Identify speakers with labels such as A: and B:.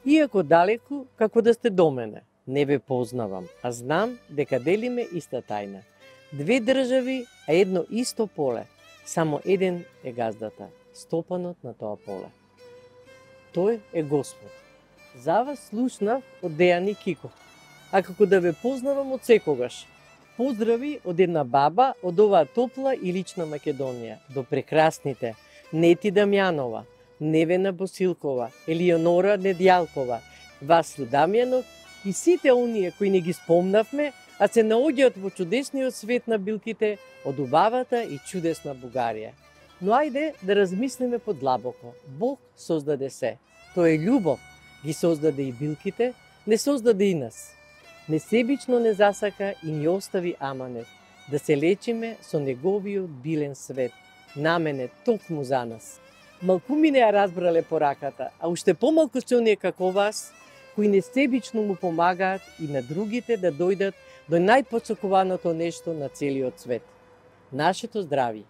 A: Иако далеку, како да сте до мене, не ве познавам, а знам дека делиме иста тајна. Две држави, а едно исто поле, само еден е газдата, стопанот на тоа поле. Тој е Господ. За вас слушнав од Дејани Киков, а како да ве познавам од секогаш. Поздрави од една баба од оваа топла и лична Македонија, до прекрасните Нети Дамјанова, Невена Босилкова, Елионора Недјалкова, Васлу Дамјанов и сите оние кои не ги спомнавме, а се наоѓаат во чудесниот свет на билките од убавата и чудесна Бугарија. Но ајде да размислиме подлабоко. Бог создаде се. Тој е љубов. Ги создаде и билките, не создаде и нас. Несебично не засака и ни остави аманет, да се лечиме со неговиот билен свет, наменет токму за нас. Малкуми не ја разбрале пораката, а уште помалку се оние како вас, кои несебично му помагаат и на другите да дојдат до најпоцекуваното нешто на целиот свет. Нашето здрави.